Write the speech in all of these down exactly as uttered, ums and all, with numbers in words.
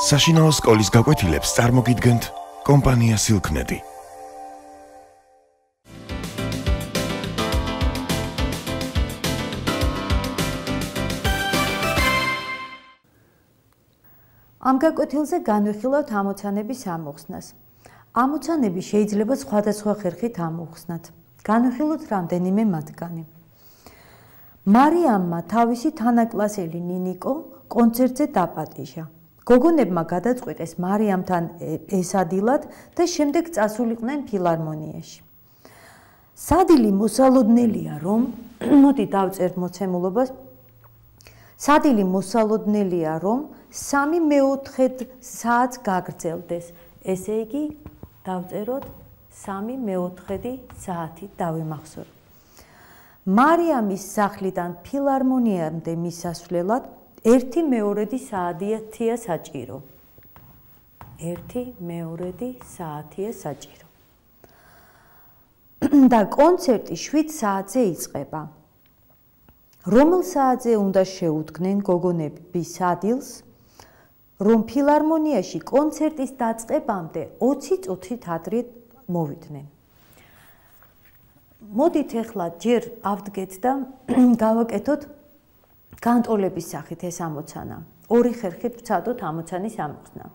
საშინაო სკოლის გაკვეთილებს წარმოგიდგენთ კომპანია Silknet. ამ გაკვეთილზე განვიხილავთ ამოცანების ამოხსნას. ამოცანები შეიძლება სხვადასხვა ხერხით ამოხსნათ. განვიხილოთ რამდენიმე მათგანი. მარიამმა თავისი თანაკლასელი ნინიკო კონცერტზე დაპატიჟა. გოგონებმა გადაწყვიტეს მარიამთან ესადილად და შემდეგ წასულიყვნენ ფილარმონიაში. სადილი მოსალოდნელია, რომ მოდი დავწერთ მოცემულობას. სადილი მოსალოდნელია, რომ სამი მეოთხედ საათს გაგრძელდეს. ესე იგი, დავწეროთ სამი მეოთხედი საათი დავიმახსოვრ. მარიამის სახლიდან ფილარმონიამდე მისასვლელად ერთი მეორედი საათია საჭირო. ერთი მეორედი საათია საჭირო. და კონცერტი შვიდ საათზე იწყება. რომელ საათზე უნდა შეუდგნენ გოგონები სადილს, რომ ფილარმონიაში კონცერტის დაწყებამდე ოცი წუთით ადრე მოვიდნენ. მოდით ახლა ჯერ ავდგეთ და გავაკეთოთ განტოლების სახით ეს ამოცანა. ორი ხერხით ვცადოთ ამოცანის ამოხსნა.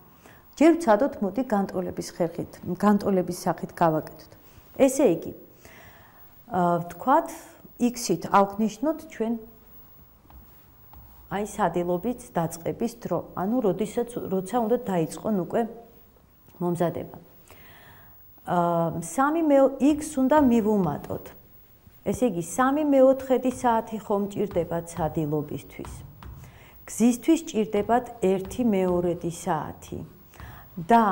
ჯერ ვცადოთ, მოდი განტოლების ხერხით, განტოლების სახით გავაკეთოთ. ესე იგი, ვთქვათ, X-ით ავხნიშნოთ ჩვენ აი სადილობის დაწყების დრო, ანუ როდესაც როცა უნდა დაიწყონ უკვე მომზადება. სამი X უნდა მივუმატოთ. ესე იგი, სამი მეოთხედი საათი ხომ ჭირდებათ სადილობისთვის. გზისთვის ჭირდებათ ერთი მეორედი საათი. და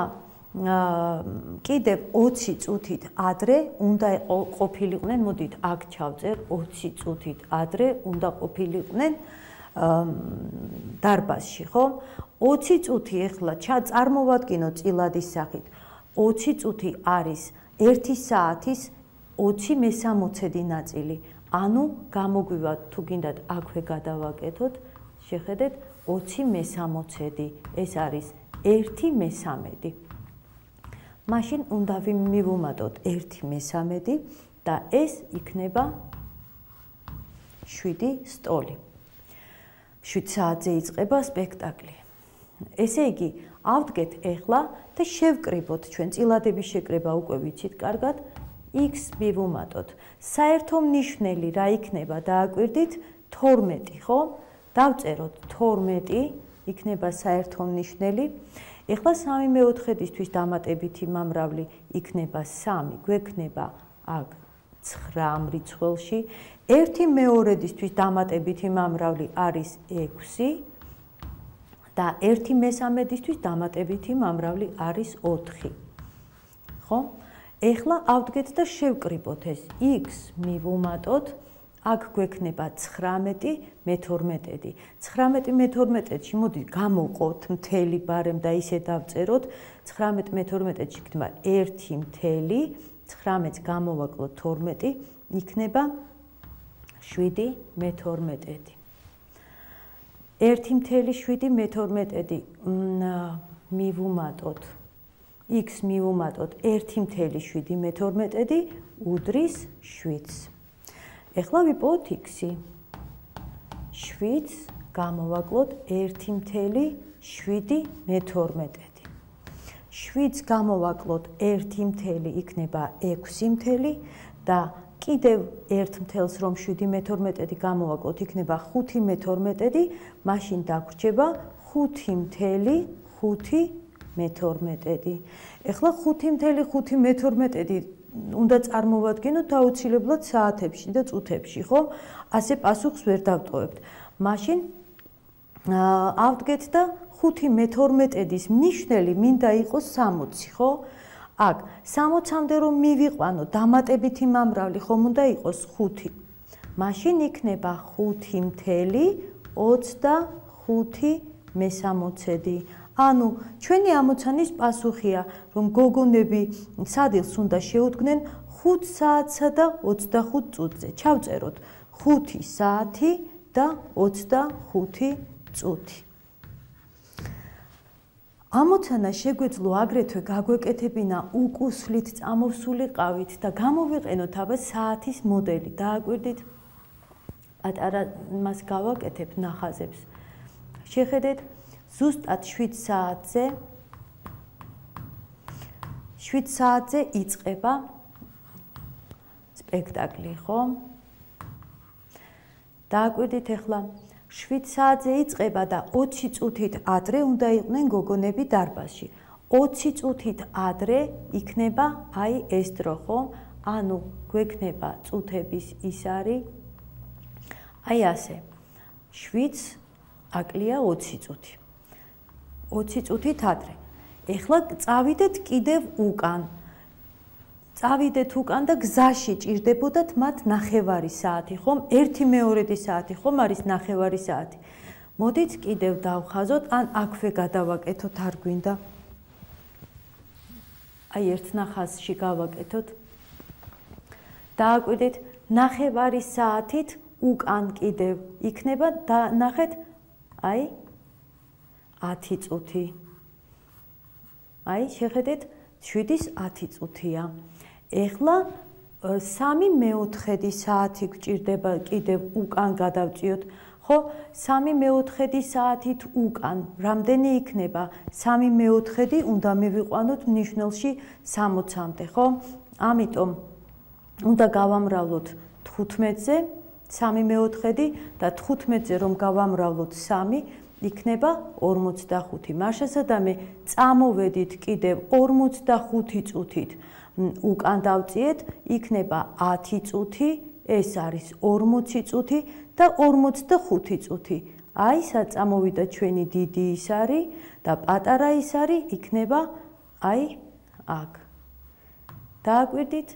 კიდევ ოცი წუთით ადრე უნდა ყოფილიყვნენ, მოდით აქ ჩავწერ, ოცი წუთით ადრე უნდა ყოფილიყვნენ დარბაზში, ხო? ოცი წუთი ახლა წარმოვადგინოთ წილადის სახით. ოცი წუთი არის ერთი საათის ოცი მესამოცედი ნაწილი. ანუ გამოგვივა, თუ გინდათ აქვე გადავაკეთოთ, შეხედეთ, ოცი მესამოცედი. ეს არის ერთი მესამედი. მაშინ უნდა მივუმატოთ ერთი მესამედი და ეს იქნება შვიდი სტოლი. შვიდ საათზე იწყება სპექტაკლი. ესე იგი, ავდგეთ ახლა და შევკრიბოთ ჩვენ წილადების შეკრება უკვე ვიცით კარგად. X მივუმატოთ. საერთო მნიშვნელი რა იქნება, დააკვირდით, თორმეტი, ხო? დავწეროთ თორმეტი, იქნება საერთო მნიშვნელი. ეხლა სამი მეოთხედისთვის დამატებითი მომრავლი იქნება სამი, გვექნება აქ ცხრა მრიცხველში. ერთი მეორედისთვის დამატებითი მომრავლი არის ექვსი და ერთი მესამედისთვის დამატებითი მომრავლი არის ოთხი. ხო? ეხლა ავდგეთ და შევკრიბოთ ეს X მივუმატოთ. აქ გვექნება ცხრამეტი მეთორმეტედი. ცხრამეტი მეთორმეტედში მოდი გამოვყოთ მთელი ბარემ და ისე დავწეროთ. ცხრამეტი მეთორმეტედში იქნება ერთი მთელი, ცხრამეტს გამოვაკლოთ თორმეტი, იქნება შვიდი მეთორმეტედი. ერთი მთელი შვიდი მეთორმეტედი მივუმატოთ. X მივუმატოთ ერთი მთელი შვიდი მეთორმეტედი უდრის შვიდს. ეხლა ვიპოვოთ X-ი. შვიდს გამოვაკლოთ ერთი მთელი შვიდი მეთორმეტედი. შვიდს გამოვაკლოთ ერთი მთელი იქნება ექვსი მთელი და კიდევ ერთ მთელს რომ შვიდი მეთორმეტედი გამოვაკლოთ იქნება ხუთი მეთორმეტედი, მაშინ დაგვრჩება ხუთი მთელი ხუთი მეთორმეტედი. ეხლა ხუთი მთელი ხუთი მეთორმეტედი უნდა წარმოვადგინოთ აუცილებლად საათებში და წუთებში, ხო? ასე პასუხს ვერ დავტოვებთ. მაშინ ავდგეთ და ხუთი მეთორმეტედის მნიშვნელი მინდა იყოს სამოცი, ხო? აქ სამოცამდე რომ მივიყვანო, დამატებითი მომრავლი ხომ უნდა იყოს ხუთი. მაშინ იქნება ხუთი მთელი ოცდახუთი მესამოცედი. ანუ ჩვენი ამოცანის პასუხია, რომ გოგონები სადილს უნდა შეუდგნენ ხუთ საათსა და ოცდახუთ წუთზე. ჩავწეროთ ხუთი საათი და ოცდახუთი წუთი. ამოცანა შეგვეძლო აგრეთვე გაგვეკეთებინა უკუსვლით წამოვსულიყავით და გამოვიყენოთ აბა საათის მოდელი. დააკვირდით, პატარა მას გავაკეთებ ნახაზებს. შეხედეთ, ზუსტად შვიდ საათზე შვიდ საათზე იწყება სპექტაკლი, ხო? დააკვირდით ახლა შვიდ საათზე იწყება და ოცი წუთით ადრე უნდა იყვნენ გოგონები დარბაზში. ოცი წუთით ადრე იქნება აი ეს დრო, ხო? ანუ გვექნება წუთების ის არის აი ასე. შვიდს აკლია ოცი წუთი. ოცი წუთით ადრე. ეხლა წავიდეთ კიდევ უკან. წავიდეთ უკან და გზაში ჭირდებოდათ მათ ნახევარი საათი, ხომ? ერთი მეორედი საათი, ხომ არის ნახევარი საათი. მოდით კიდევ დავხაზოთ, ან აქვე გადავაკეთოთ, არ გვინდა. აი ერთ ნახაზში გავაკეთოთ. დააკვირდით, ნახევარი საათით უკან კიდევ იქნება და ნახეთ, აი ათი წუთი. აი შეხედეთ, შვიდის ათი წუთია. ეხლა სამი მეოთხედი საათი გვჭირდება კიდევ უკან გადავწიოთ, ხო? სამი მეოთხედი საათით უკან რამდენი იქნება? სამი მეოთხედი უნდა მივიყვანოთ მნიშვნელში სამოცამდე, ხო? ამიტომ უნდა გავამრავლოთ თხუთმეტზე, სამი მეოთხედი და თხუთმეტზე რომ გავამრავლოთ სამი, იქნება ორმოცდახუთი. მარშასადამე წამოვედით კიდევ ორმოცდახუთი წუთით. უკან დავწიეთ, იქნება ათი წუთი, ეს არის ორმოცი წუთი და ორმოცდახუთი წუთი. აი საწამოვიდა ჩვენი დიდი ის არის და პატარა ის არის, იქნება აი აქ. დააკვირდით,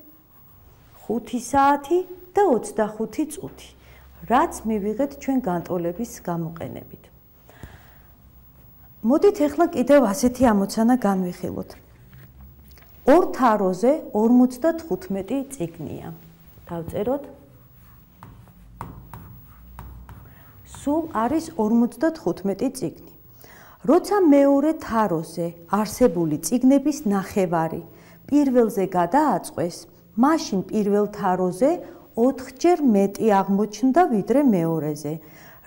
ხუთი საათი და ოცდახუთი წუთი. რაც მივიღეთ ჩვენ განტოლების გამოყენებით. მოდით ახლა კიდევ ასეთი ამოცანა განვიხილოთ. ორ თაროზე ორმოცდათხუთმეტი წიგნია. დავწეროთ. სულ არის ორმოცდათხუთმეტი წიგნი. როცა მეორე თაროზე არსებული წიგნების ნახევარი პირველზე გადააწყვეს, მაშინ პირველ თაროზე ოთხჯერ მეტი აღმოჩნდა ვიდრე მეორეზე.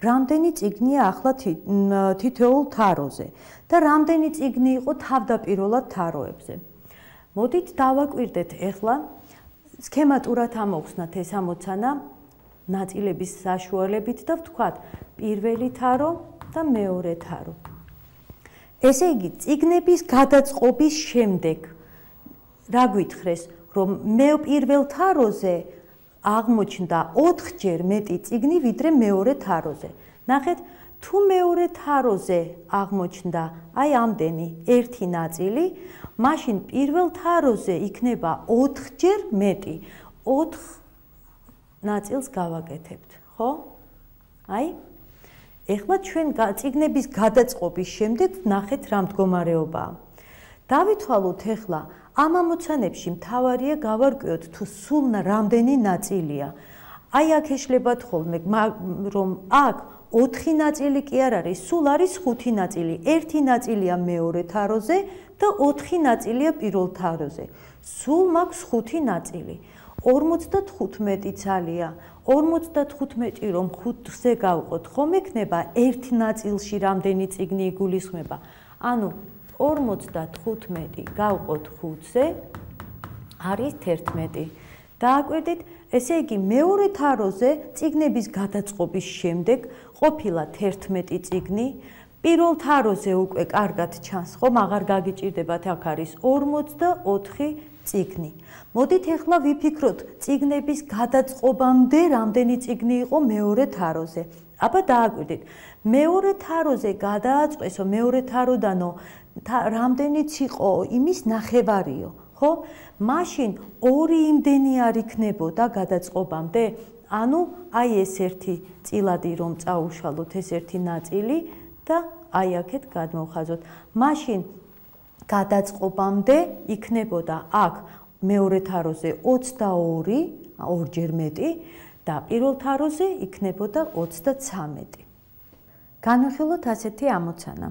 რამდენი წიგნია ახლა თითოეულ თაროზე და რამდენი წიგნი იყო თავდაპირველად თაროებზე. მოდით დავაკვირდეთ ახლა სქემატურად ამოვხსნათ ეს ამოცანა ნაწილების საშუალებით და ვთქვათ პირველი თარო და მეორე თარო. ესე იგი, წიგნების გადაწყობის შემდეგ რა გვითხრეს, რომ მე პირველ თაროზე აღმოჩნდა ოთხჯერ მეტი წიგნი ვიდრე მეორე თაროზე. ნახეთ, თუ მეორე თაროზე აღმოჩნდა აი ამდენი ერთი ნაწილი, მაშინ პირველ თაროზე იქნება ოთხჯერ მეტი. ოთხ ნაწილს გავაკეთებთ, ხო? აი, ეხლა ჩვენ წიგნების გადაწყობის შემდეგ ნახეთ რა მდგომარეობაა. დავითვალოთ ეხლა ამ ამოცანებში მთავარია გავარკვიოთ თუ სულ რამდენი ნაწილია. აი აქ ეშლებათ ხოლმე, რომ აქ ოთხი ნაწილი კი არ არის, სულ არის ხუთი ნაწილი. ერთი ნაწილია მეორე თაროზე და ოთხი ნაწილია პირველ თაროზე. სულ მაქვს ხუთი ნაწილი. ორმოცდათხუთმეტი ძალია. ორმოცდათხუთმეტი რომ ხუთზე გავყოთ, ხომ ექნება ერთ ნაწილში რამდენი წიგნი იგულისხმება. ანუ ორმოცდათხუთმეტი გავყოთ ხუთზე არის თერთმეტი. დააკვირდით, ესე იგი მეორე თაროზე წიგნების გადაწყობის შემდეგ ყოფილა თერთმეტი წიგნი, პირველ თაროზე უკვე კარგად ჩანს, ხომ აღარ გაგიჭირდებათ, აქ არის ორმოცდაოთხი წიგნი. მოდით ახლა ვიფიქროთ წიგნების გადაწყობამდე რამდენი წიგნი იყო მეორე თაროზე. აბა დააკვირდით, მეორე თაროზე გადააწყვესო, მეორე თაროდანო რამდენიც იყო იმის ნახევარიო, ხო? მაშინ ორი იმდენი არ იქნებოდა გადაწყობამდე, ანუ აი ეს ერთი წილადი რომ წაუშალოთ ეს ერთი ნაწილი და აი აქეთ გადმოვხაზოთ. მაშინ გადაწყობამდე იქნებოდა აქ მეორე თაროზე ოცდაორი, ორჯერ მეტი და პირველ თაროზე იქნებოდა ოცდაცამეტი. განვიხილოთ ასეთი ამოცანა.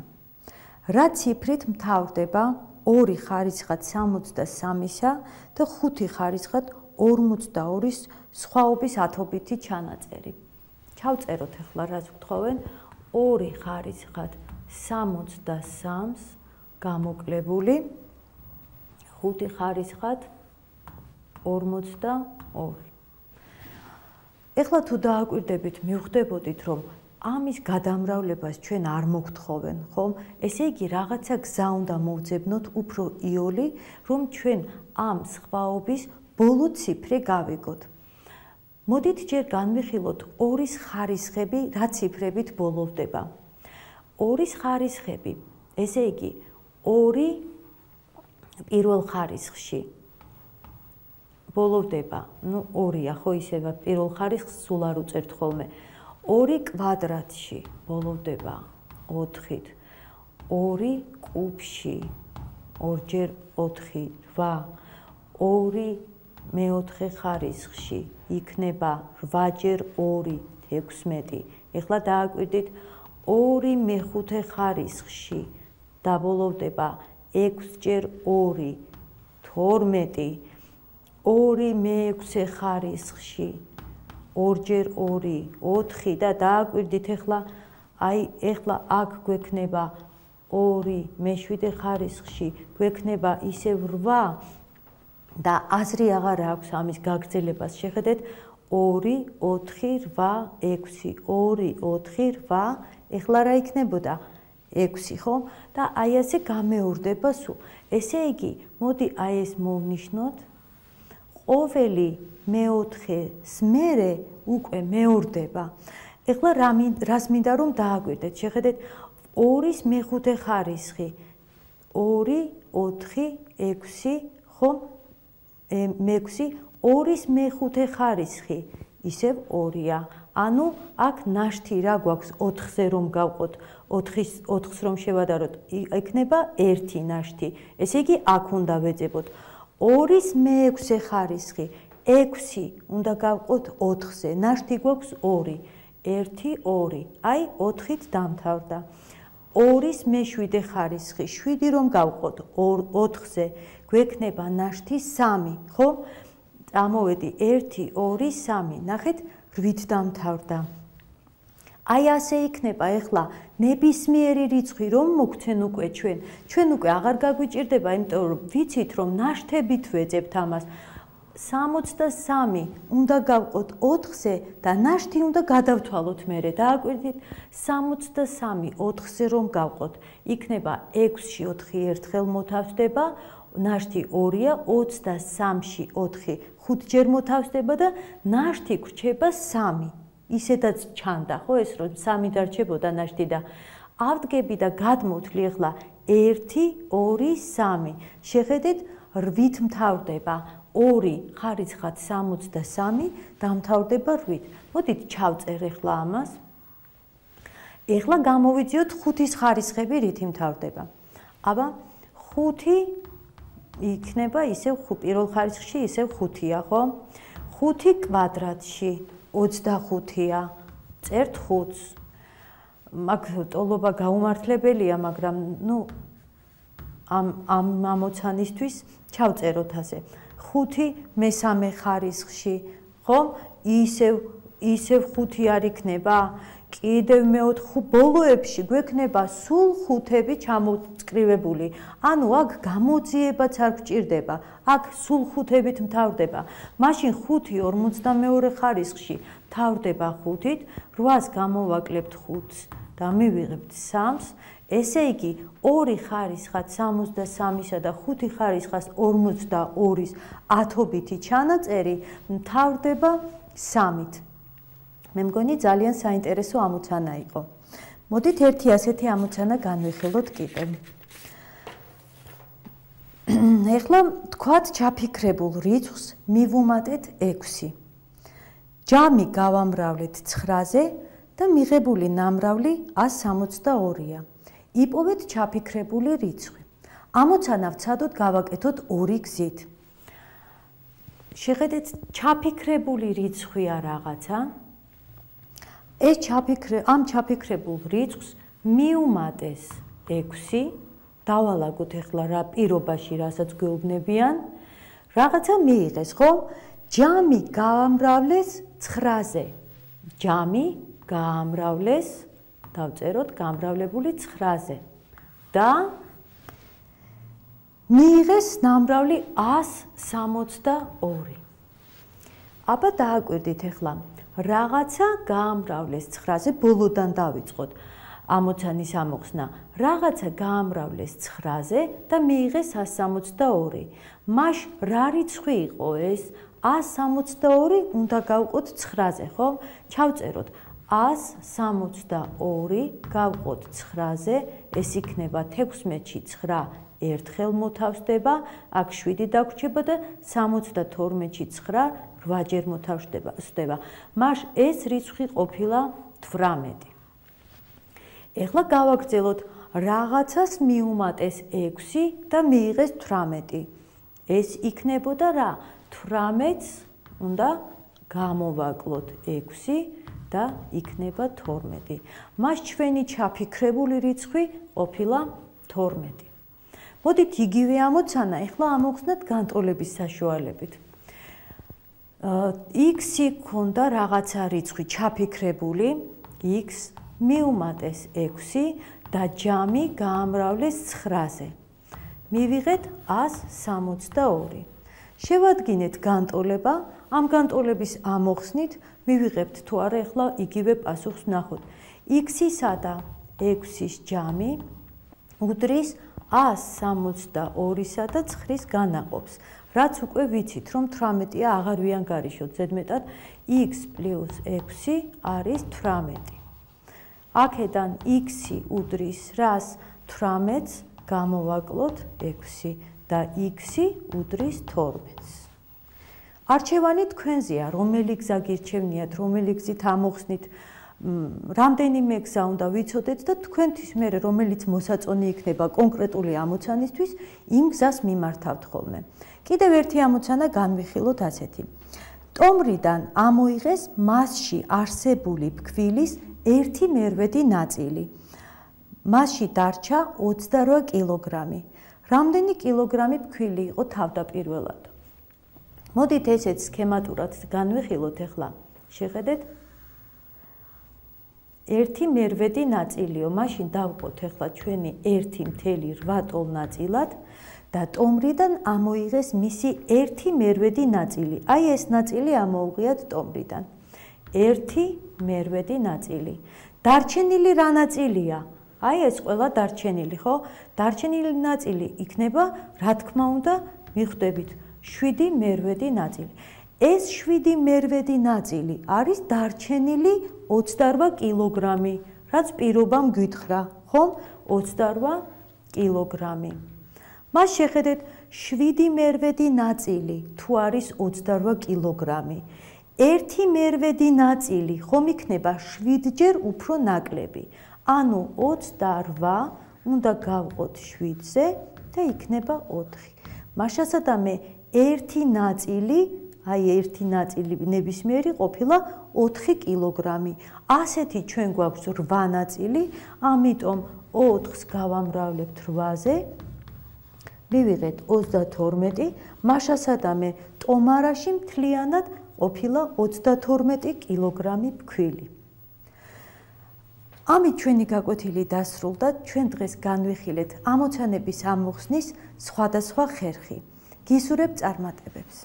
რა ციფრით მთავრდება ორი ხარისხად სამოცდასამისა და ხუთი ხარისხად ორმოცდაორის სხვაობის ათობითი ჩანაწერი. ჩავწეროთ ახლა რაც ვთხოვენ ორი ხარისხად სამოცდასამს გამოკლებული ხუთი ხარისხად ორმოცდაორი. ეხლა თუ დააკვირდებით მივხვდებოდით რომ ამის გადამრავლებას ჩვენ არ მოგთხოვენ, ხომ? ესე იგი რაღაცა გზა უნდა მოვძებნოთ უფრო იოლი, რომ ჩვენ ამ სხვაობის ბოლო ციფრი გავიგოთ. მოდით ჯერ განვიხილოთ ორის ხარისხები რა ციფრებით ბოლოვდება. ორის ხარისხები, ესე იგი ორი პირველ ხარისხში ბოლოვდება, ну ორია, ხო ისევ პირველ ხარისხს სულ არ უწერთ ხოლმე. ორი კვადრატში ბოლოვდება ოთხით, ორი კუბში ორჯერ ოთხი რვა, ორი მეოთხე ხარისხში იქნება რვაჯერ ორი ექვსმეტი. ეხლა დააკვირდით ორი მეხუთე ხარისხში დაბოლოვდება ექვსჯერ ორი თორმეტი, ორი მეექვსე ხარისხში ორჯერ ორი ოთხი და დააკვირდით ეხლა აი ეხლა აქ გვექნება ორი მეშვიდე ხარისხში გვექნება ისევ რვა და აზრი აღარ აქვს ამის გაგრძელებას. შეხედეთ ორი ოთხი რვა ექვსი ორი ოთხი რვა ეხლა რა იქნებოდა ექვსი, ხო? და აი ასე გამეორდება სულ. ესე იგი, მოდი აი ეს მოვნიშნოთ. ყოველი მეოთხეს მერე უკვე მეორდება. ეხლა რას მინდა რომ დააკვირდეთ? შეხედეთ ორის მეხუთე ხარისხი ორი ოთხი ექვსი, ხო? მეექვსი ორის მეხუთე ხარისხი ისევ ორია. ანუ აქ ნაშთი რა გვაქვს ოთხზე რომ გავყოთ, ოთხს რომ შევადაროთ, იქნება ერთი ნაშთი. ესე იგი აქ უნდა ვეძებოთ. ორის მეექვსე ხარისხი ექვსი უნდა გავყოთ ოთხზე, ნაშთი გვაქვს ორი, ერთი ორი, აი ოთხით დამთავრდა. ორის მეშვიდე ხარისხი შვიდი რომ გავყოთ ოთხზე, გვექნება ნაშთი სამი, ხო? წამოვედი ერთი ორი სამი, ნახეთ რვით დამთავრდა. აი ასე იქნება ეხლა ნებისმიერი რიცხვი რომ მოგცენ უკვე ჩვენ, ჩვენ უკვე აღარ გაგვიჭირდება, იმიტომ რომ ვიცით რომ ნაშთებით ვეძებთ ამას. სამოცდასამი უნდა გავყოთ ოთხზე და ნაშთი უნდა გადავთვალოთ მერე. დააკვირდით სამოცდასამი ოთხზე რომ გავყოთ, იქნება ექვსში ოთხი ერთხელ მოთავსდება, ნაშთი ორია, ოცდასამში ოთხი ხუთჯერ მოთავსდება და ნაშთი გვრჩება სამი. ისედაც ჩანდა, ხო ეს რომ სამი დარჩებოდა ნაშთი და ავდგები და გადმოვთვლი ახლა ერთი ორი სამი. შეხედეთ რვით მთავრდება. ორი ხარისხად სამოცდასამი დამთავრდება რვით. მოდით ჩავწერ ახლა ამას. ახლა გამოვიძიოთ ხუთის ხარისხები რითი მთავრდება. აბა ხუთი იქნება ისევ პირველ ხარისხში ისევ ხუთია, ხო? ხუთი კვადრატში ოცდახუთია. წერთ ხუთს. მაგ ტოლობა გაუმართლებელია, მაგრამ ნუ ამ ამ ამოცანისთვის ჩავწეროთ ასე. ხუთი მესამე ხარისხში, ხო? ისევ ისევ ხუთი არ იქნება? კიდევ მეოთხე ბოლოებში გვექნება სულ ხუთები ჩამოწკრივებული. ანუ აქ გამოძიებაც არ გვჭირდება. აქ სულ ხუთებით მთავრდება. მაშინ ხუთი ორმოცდამეორე ხარისხში მთავრდება ხუთით, რვას გამოვაკლებთ ხუთს და მივიღებთ სამს. ესე იგი ორი ხარისხად სამოცდასამისა და ხუთი ხარისხად ორმოცდაორის ათობითი ჩანაწერი მთავრდება სამით. მე მგონი ძალიან საინტერესო ამოცანა იყო. მოდით ერთი ასეთი ამოცანა განვიხილოთ კიდევ. ეხლა თქვათ ჩაფიქრებულ რიცხვს მივუმატეთ ექვსი. ჯამი გავამრავლეთ ცხრაზე და მიღებული ნამრავლი ას სამოცდაორია. იპოვეთ ჩაფიქრებული რიცხვი. ამოცანა ვცადოთ გავაკეთოთ ორი გზით. შეხედეთ ჩაფიქრებული რიცხვია რაღაცა. ეს ჩაფიქრე ამ ჩაფიქრებულ რიცხვს მიუმატეს ექვსი. დავალაგოთ ახლა რა პირობაში, რასაც გვეუბნებიან. რაღაცა მიიღეს, ხო? ჯამი გაამრავლეს ცხრაზე. ჯამი გაამრავლეს, დავწეროთ, გამრავლებული ცხრაზე. და მიიღეს ნამრავლი ას სამოცდა ორი. აბა დააკვირდით ახლა, რაღაცა გაამრავლეს ცხრაზე, ბოლოდან დავიწყოთ ამოცანის ამოხსნა. რაღაცა გაამრავლეს ცხრაზე და მიიღეს ას სამოცდა ორი. მაშ რა რიცხვი იყო ეს? ას სამოცდა ორი უნდა გავყოთ ცხრაზე, ხო? ჩავწეროთ ას სამოცდა ორი გავყოთ ცხრაზე, ეს იქნება თექვსმეტში ცხრა ერთხელ მოთავსდება, აქ შვიდი დაგვრჩება და სამოცდა თორმეტში ცხრა რვაჯერ მოთავსდება. მაშ ეს რიცხვი ყოფილა თვრამეტი. ეხლა გავაგრძელოთ რაღაცას მიუმატეს ექვსი და მიიღეს თვრამეტი. ეს იქნებოდა რა? თვრამეტს უნდა გამოვაკლოთ ექვსი და იქნება თორმეტი. მას ჩვენი ჩაფიქრებული რიცხვი ყოფილა თორმეტი. მოდით იგივე ამოცანა ახლა ამოვხსნათ განტოლების საშუალებით. x-ი ქონდა რაღაცა რიცხვი ჩაფიქრებული, x მიუმატეს ექვსი და ჯამი გაამრავლეს ცხრაზე. მივიღეთ ას სამოცდა ორი. შევადგინეთ განტოლება, ამ განტოლების ამოხსნით მივიღებთ თუ არა ახლა იგივე პასუხს ვნახოთ. x-ისა და ექვსის ჯამი უდრის ას სამოცდა ორისა და ცხრის განაყოფს. რაც უკვე ვიცით, რომ თვრამეტია აღარ ვიანგარიშოთ, ზედმეტად x პლუს ექვსი არის თვრამეტი. აქედან x-ი უდრის რას? თვრამეტს გამოვაკლოთ ექვსი და x-ი უდრის თორმეტს. არჩევანი თქვენზეა, რომელი გზა გირჩევნიათ, რომელი გზით ამოხსნით, რამდენიმე გზა უნდა ვიცოდეთ და თქვენთვის მერე რომელიც მოსაწონი იქნება კონკრეტული ამოცანისთვის, იმ გზას მიმართავთ ხოლმე. კიდევ ერთი ამოცანა განვიხილოთ ასეთი. ტომრიდან ამოიღეს მასში არსებული ფქვილის ერთი მერვედი ნაწილი. მასში დარჩა ოცდარვა კილოგრამი. რამდენი კილოგრამი ფქვილი იყო თავდაპირველად? მოდით ესეც სქემატურად განვიხილოთ ახლა. შეხედეთ. ერთი მერვედი ნაწილიო, მაშინ დავყოთ ახლა ჩვენი ერთი მთელი რვა ტოლ ნაწილად და ტომრიდან ამოიღეს მისი ერთი მერვედი ნაწილი. აი ეს ნაწილი ამოუღიათ ტომრიდან. ერთი მერვედი ნაწილი. დარჩენილი რა ნაწილია? აი ეს ყველა დარჩენილი, ხო? დარჩენილი ნაწილი იქნება, რა თქმა უნდა, მიხვდებით, შვიდი მერვედი ნაწილი. ეს შვიდი მერვედი ნაწილი არის დარჩენილი ოცდარვა კილოგრამი, რაც პირობამ გითხრა, ხომ? ოცდარვა კილოგრამი. მას შეხედეთ, შვიდი მერვედი ნაწილი თუ არის ოცდარვა კილოგრამი. ერთი მერვედი ნაწილი ხომ იქნება შვიდჯერ უფრო ნაკლები. ანუ ოცდარვა უნდა გავყოთ შვიდზე და იქნება ოთხი. მაშასადამე ერთი ნაწილი, აი ერთი ნაწილი ნებისმიერი ყოფილა ოთხი კილოგრამი. ასეთი ჩვენ გვაქვს რვა ნაწილი, ამიტომ ოთხს გავამრავლებთ რვაზე. მივიღეთ ოცდათორმეტი, მაშასადამე ტომარაში მთლიანად ყოფილა ოცდათორმეტი კილოგრამი ფქვილი. ამით ჩვენი გაკვეთილი დასრულდა, ჩვენ დღეს განვიხილეთ ამოცანების ამოხსნის სხვადასხვა ხერხი. გისურვებ წარმატებებს.